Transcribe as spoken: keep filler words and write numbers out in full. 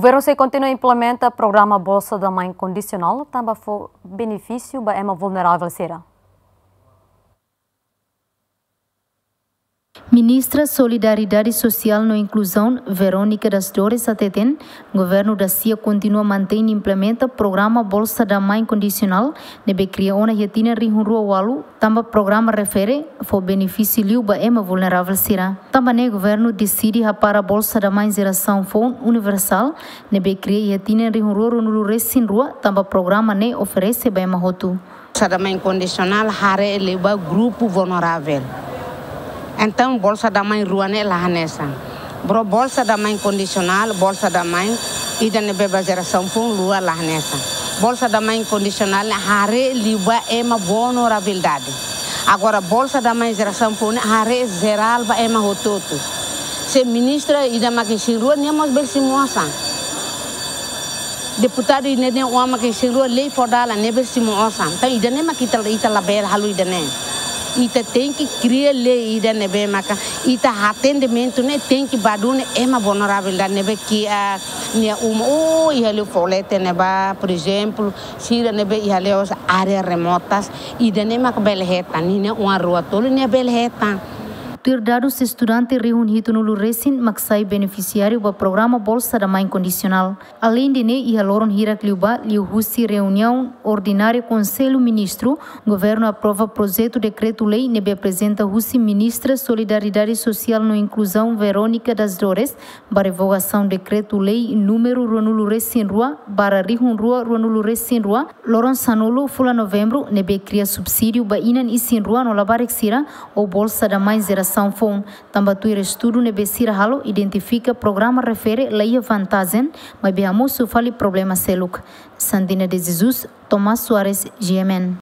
Governu sei kontinua implementa programa Bolsa da Mãe Kondisionál, tanba fó benefísiu ba ema vulneravel sira. Ministra Solidariedade Sosiál no Inkluzaun, Verónica das Dores, hateten, governu da-sia kontinua mantein implementa programa Bolsa da Mãe Kondisionál, ne'ebé kria ona iha tinan rihun rua ualu, tanba programa refere fó benefísiu liu ba ema vulneravel sira. Tanba ne'e governu deside hapara Bolsa da Mãe Jerasaun Foun Universál, ne'ebé kria iha tinan rihun rua ruanulu resin rua, tanba programa ne'e oferese ba ema hotu. Bolsa da Mãe Kondisionál haree liu ba grupu vulneravel. Entaun, Bolsa da Mãe rua ne'e la hanesan. Bro, Bolsa da Mãe Kondisionál, Bolsa da Mãe ida ne'ebé ba jerasaun foun lua la hanesan. Bolsa da Mãe Kondisionál ne'e haree liu ba ema vulnerabilidade. Agora, Bolsa da Mãe Jerasaun Foun ne'e haree jerál ba ema hotu-hotu. Se ministra ida mak isin-rua, nia mós bele simu osan. Deputadu ida-ne'e, nia oan mak isin-rua, lei fó dalan, nia bele simu osan. Entaun ida-ne'e mak ita, ita labele halo ida-ne'e. Ita tenke kria lei ida ne'ebé maka ita atendimentu ne'e tenke ba duni ema vulneravel ida ne'ebé kiak, nia uma, oh, iha liu floresta ne'ebá, por ezemplu, sira ne'ebé iha liu área remotas, ida-ne'e mak bele hetan, ninia oan rua tolu nia bele hetan. Tuir dadus, estudante rihun hitunulu resin mak sai benefisiáriu ba programa Bolsa da Mãe Kondisionál. Aleinde ne'e, iha loron hirak liubá, liuhusi reuniaun ordinária Konsellu Ministru, governu aprova projetu dekretu-lei ne'ebé aprezenta husi Ministra Solidariedade Sosiál no Inkluzaun, Verónica das Dores, ba revogasaun dekretu-lei númeru ruanulu resin rua barra rihun rua ruanulu resin rua, loron sanulu fulan Novembru, ne'ebé kria subsídiu ba inan isin-rua no labarik sira ou Bolsa da Mãe Jerasaun Foun, tanba tuir estudu ne'ebé sira halo, identifika programa refere la iha vantajen, maibé hamosu fali problema seluk. Sandina de Jesus, Tomás Soares, G M N.